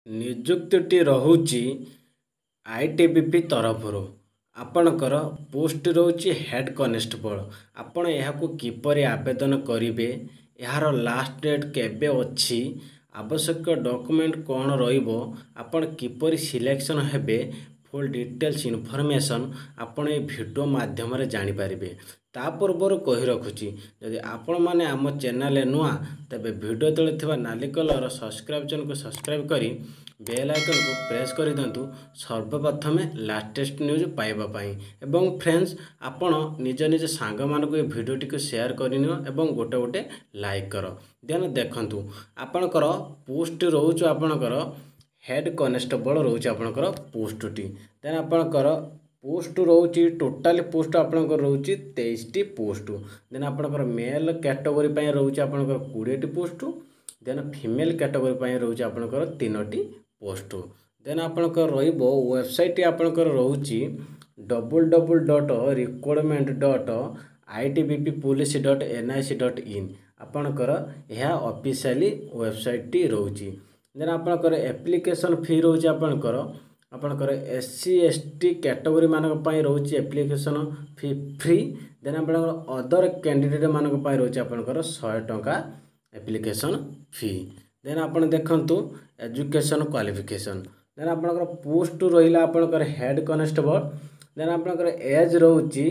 ନିଯୁକ୍ତିଟି ରହୁଛି ଆଇଟିବିପି ତରଫରୁ। ଆପଣଙ୍କର ପୋଷ୍ଟ ରହୁଛି ହେଡ଼୍ କନେଷ୍ଟବଳ। ଆପଣ ଏହାକୁ କିପରି ଆବେଦନ କରିବେ, ଏହାର ଲାଷ୍ଟ ଡେଟ୍ କେବେ ଅଛି, ଆବଶ୍ୟକ ଡକୁମେଣ୍ଟ କ'ଣ ରହିବ, ଆପଣ କିପରି ସିଲେକ୍ସନ୍ ହେବେ, ଫୁଲ୍ ଡିଟେଲ୍ସ ଇନଫର୍ମେସନ୍ ଆପଣ ଏ ଭିଡ଼ିଓ ମାଧ୍ୟମରେ ଜାଣିପାରିବେ। ତା ପୂର୍ବରୁ କହି ରଖୁଛି, ଯଦି ଆପଣମାନେ ଆମ ଚ୍ୟାନେଲରେ ନୂଆ, ତେବେ ଭିଡ଼ିଓ ତଳେ ଥିବା ନାଲି କଲର୍ ସବସ୍କ୍ରାଇବ୍ ବଟନ୍କୁ ସବସ୍କ୍ରାଇବ୍ କରି ବେଲ୍ ଆଇକନ୍କୁ ପ୍ରେସ୍ କରିଦିଅନ୍ତୁ ସର୍ବପ୍ରଥମେ ଲାଟେଷ୍ଟ ନ୍ୟୁଜ୍ ପାଇବା ପାଇଁ। ଏବଂ ଫ୍ରେଣ୍ଡସ୍, ଆପଣ ନିଜ ନିଜ ସାଙ୍ଗମାନଙ୍କୁ ଏ ଭିଡ଼ିଓଟିକୁ ସେୟାର କରିନିଅ ଏବଂ ଗୋଟେ ଗୋଟେ ଲାଇକ୍ କର। ଦେନ୍ ଦେଖନ୍ତୁ, ଆପଣଙ୍କର ପୋଷ୍ଟ ରହୁଛି ଆପଣଙ୍କର ହେଡ଼୍ କନେଷ୍ଟବଳ ରହୁଛି ଆପଣଙ୍କର ପୋଷ୍ଟଟି। ଦେନ୍ ଆପଣଙ୍କର ପୋଷ୍ଟ ରହୁଛି, ଟୋଟାଲି ପୋଷ୍ଟ ଆପଣଙ୍କର ରହୁଛି 23ଟି ପୋଷ୍ଟ। ଦେନ୍ ଆପଣଙ୍କର ମେଲ୍ କ୍ୟାଟେଗୋରୀ ପାଇଁ ରହୁଛି ଆପଣଙ୍କର 20ଟି ପୋଷ୍ଟ। ଦେନ୍ ଫିମେଲ୍ କ୍ୟାଟେଗୋରୀ ପାଇଁ ରହୁଛି ଆପଣଙ୍କର 3ଟି ପୋଷ୍ଟ। ଦେନ୍ ଆପଣଙ୍କର ରହିବ ୱେବସାଇଟ୍, ଆପଣଙ୍କର ରହୁଛି www.recruitment.itbppolice.nic.in। ଆପଣଙ୍କର ଏହା ଅଫିସିଆଲି ୱେବସାଇଟ୍ଟି ରହୁଛି। ଦେନ୍ ଆପଣଙ୍କର ଆପ୍ଲିକେସନ୍ ଫି ରହୁଛି ଆପଣଙ୍କର S C, S T category ମାନଙ୍କ ପାଇଁ ରହୁଛି ଆପ୍ଲିକେସନ୍ ଫି ଫ୍ରି। ଦେନ୍ ଆପଣଙ୍କର ଅଦର କ୍ୟାଣ୍ଡିଡେଟ୍ ମାନଙ୍କ ପାଇଁ ରହୁଛି ଆପଣଙ୍କର 100 ଟଙ୍କା ଆପ୍ଲିକେସନ୍ ଫି। ଦେନ୍ ଆପଣ ଦେଖନ୍ତୁ ଏଜୁକେସନ୍ କ୍ୱାଲିଫିକେସନ୍। ଦେନ୍ ଆପଣଙ୍କର ପୋଷ୍ଟ ରହିଲା ଆପଣଙ୍କର ହେଡ଼୍ କନେଷ୍ଟବଳ। ଦେନ୍ ଆପଣଙ୍କର ଏଜ୍ ରହୁଛି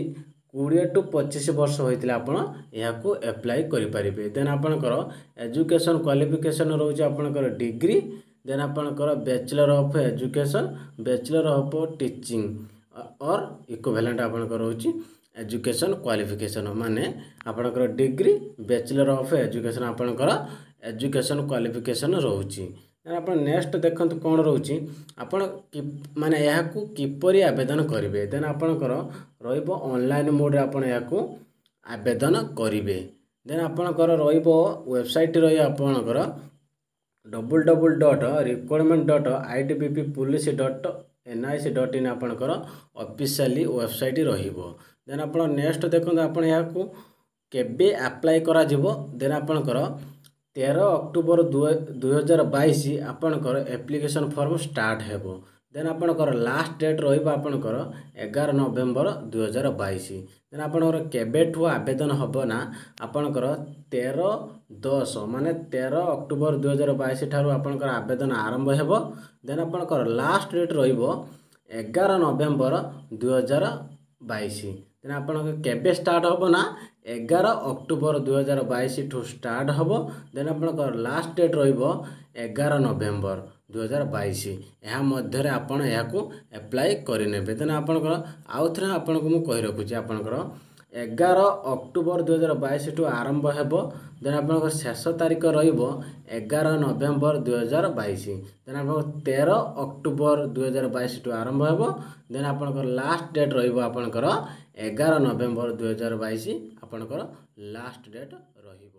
20 ଟୁ 25 ବର୍ଷ ହୋଇଥିଲେ ଆପଣ ଏହାକୁ ଆପ୍ଲାଏ କରିପାରିବେ। ଦେନ୍ ଆପଣଙ୍କର ଏଜୁକେସନ୍ କ୍ୱାଲିଫିକେସନ୍ ରହୁଛି ଆପଣଙ୍କର ଡିଗ୍ରୀ, ଦେନ୍ ଆପଣଙ୍କର bachelor of education, bachelor of teaching or equivalent ଆପଣଙ୍କର ରହୁଛି ଏଜୁକେସନ୍ କ୍ୱାଲିଫିକେସନ୍। ମାନେ ଆପଣଙ୍କର ଡିଗ୍ରୀ, ବ୍ୟାଚଲର ଅଫ୍ ଏଜୁକେସନ୍ ଆପଣଙ୍କର ଏଜୁକେସନ୍ କ୍ୱାଲିଫିକେସନ୍ ରହୁଛି। ଦେନ୍ ଆପଣ ନେକ୍ସଟ ଦେଖନ୍ତୁ କ'ଣ ରହୁଛି, ଆପଣ ମାନେ ଏହାକୁ କିପରି ଆବେଦନ କରିବେ। ଦେନ୍ ଆପଣଙ୍କର ରହିବ ଅନଲାଇନ୍ ମୋଡ଼ରେ ଆପଣ ଏହାକୁ ଆବେଦନ କରିବେ। ଦେନ୍ ଆପଣଙ୍କର ରହିବ ୱେବସାଇଟ୍ ରହିବ ଆପଣଙ୍କର www.recruitment.itbppolice.nic.in, ଆପଣଙ୍କର ଅଫିସିଆଲି ୱେବସାଇଟ୍ ରହିବ। ଦେନ୍ ଆପଣ ନେକ୍ସଟ ଦେଖନ୍ତୁ, ଆପଣ ଏହାକୁ କେବେ ଆପ୍ଲାଏ କରାଯିବ। ଦେନ୍ ଆପଣଙ୍କର 13 ଅକ୍ଟୋବର 2022 ଆପଣଙ୍କର ଆପ୍ଲିକେସନ୍ ଫର୍ମ ଷ୍ଟାର୍ଟ ହେବ। ଦେନ୍ ଆପଣଙ୍କର ଲାଷ୍ଟ ଡେଟ୍ ରହିବ ଆପଣଙ୍କର 11 ନଭେମ୍ବର 2022। ଦେନ୍ ଆପଣଙ୍କର କେବେଠୁ ଆବେଦନ ହେବ ନା ଆପଣଙ୍କର 13/10, ମାନେ 13 ଅକ୍ଟୋବର 2022 ଠାରୁ ଆପଣଙ୍କର ଆବେଦନ ଆରମ୍ଭ ହେବ। ଦେନ୍ ଆପଣଙ୍କର ଲାଷ୍ଟ ଡେଟ୍ ରହିବ 11 ନଭେମ୍ବର 2022। ଦେନ୍ ଆପଣଙ୍କ କେବେ ଷ୍ଟାର୍ଟ ହେବ ନା 11 ଅକ୍ଟୋବର 2022ଠୁ ଷ୍ଟାର୍ଟ ହେବ। ଦେନ୍ ଆପଣଙ୍କର ଲାଷ୍ଟ ଡେଟ୍ ରହିବ 11 ନଭେମ୍ବର 2022। ଏହା ମଧ୍ୟରେ ଆପଣ ଏହାକୁ ଆପ୍ଲାଏ କରିନେବେ। ଦେନ୍ ଆପଣଙ୍କର ଆଉ ଥରେ ଆପଣଙ୍କୁ ମୁଁ କହି ରଖୁଛି, ଆପଣଙ୍କର 11 ଅକ୍ଟୋବର 2022ଠୁ ଆରମ୍ଭ ହେବ। ଦେନ୍ ଆପଣଙ୍କର ଶେଷ ତାରିଖ ରହିବ 11 ନଭେମ୍ବର 2022। ଦେନ୍ ଆପଣଙ୍କର 13 ଅକ୍ଟୋବର 2022ଠୁ ଆରମ୍ଭ ହେବ। ଦେନ୍ ଆପଣଙ୍କର ଲାଷ୍ଟ ଡେଟ୍ ରହିବ ଆପଣଙ୍କର 11 ନଭେମ୍ବର 2022, ଆପଣଙ୍କର ଲାଷ୍ଟ ଡେଟ୍ ରହିବ।